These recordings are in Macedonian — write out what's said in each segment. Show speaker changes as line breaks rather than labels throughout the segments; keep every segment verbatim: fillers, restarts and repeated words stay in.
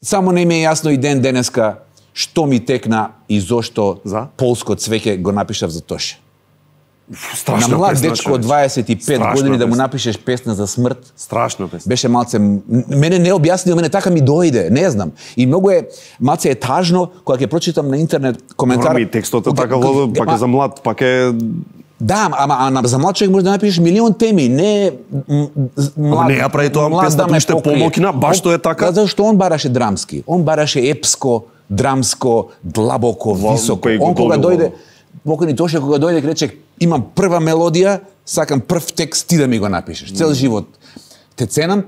Само не ми е јасно и ден денеска што ми текна и зошто
За?
полско цвеќе го напишав за Тоше.
Страшна
На млад
песна,
дечко од
човече.
дваесет и пет
Страшна
години да му
песна.
напишеш песна за смрт,
Страшна песна.
беше малце, мене не објаснил, мене така ми дојде, не знам. И многу е, малце е тажно, кога ќе прочитам на интернет коментар...
Добро, ми текстот е
кога-
така,
кога-
пак е за млад, пак е...
Да, ама, ама за млад човек може да напишеш милион теми, не м, млад.
не ја прави тоа
млад
песната
да ме
уште
покрие.
помокна, баш тоа е така.
Да, зашто он бараше драмски. Он бараше епско, драмско, длабоко,
Во-
високо.
кој го
Он кога
добил
дојде,
во-
покојни Тоше кога дојде рече имам прва мелодија, сакам прв текст ти да ми го напишеш. Цел живот те ценам.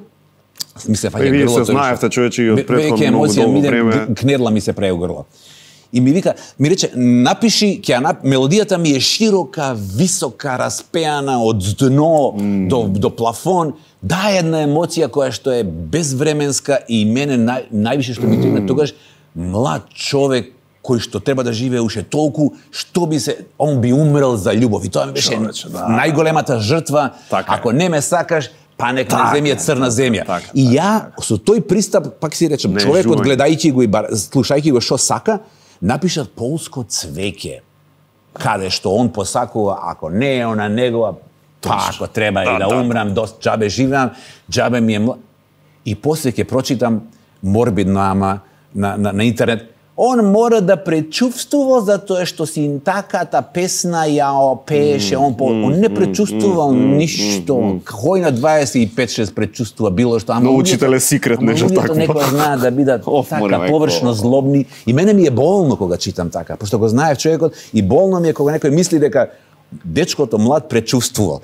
Ми се фаќа
Е, вие
грлото.
се знаевте, човече, и од
Ве-
претходно
веќе
многу
емоција
долго
ми иде,
време.
кнерла ми се преу грло. И ми вика, ми рече, напиши, ќе ја нап... мелодијата ми е широка, висока, распеана од дно mm. до, до плафон. Да, една емоција која што е безвременска и мене нај, највише што ми тегна тогаш млад човек кој што треба да живее уште толку, што би се, он би умрел за љубов. И тоа ми беше
Човече, да.
најголемата жртва.
Така е.
Ако не ме сакаш, па нека
Така
ме земја
е,
црна земја.
така,
И
така,
ја со тој пристап, пак си речем,
Не,
човекот
жување.
гледајќи го и бар, слушајќи го што сака, напишат полско цвеќе, каде што он посакува, ако не е она негова, па ако треба
Да,
и да,
да.
умрам, дост джабе живеам, джабе ми е мла... И после ќе прочитам морбидно, ама на, на, на интернет, он мора да пречувствува затоа што синтаката песна ја пееше, он, по... он не пречувствувал ништо. Кој на дваесет и пет шест пречувствува било што, ама
Но
луѓето-
учител е секрет,
ама
нешто
луѓето
такво.
некој знаат да бидат
Оф,
така
море, мајко.
површно злобни. И мене ми е болно кога читам така, пошто го знаев човекот, и болно ми е кога некој мисли дека дечкото млад пречувствувал.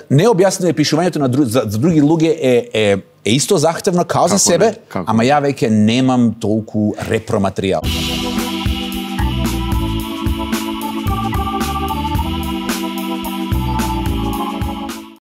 Не објаснено е пишувањето на друг, за, за други луѓе е, е, е исто захтевно као за
Како
себе,
не? Како
ама ја веќе немам толку репроматеријал.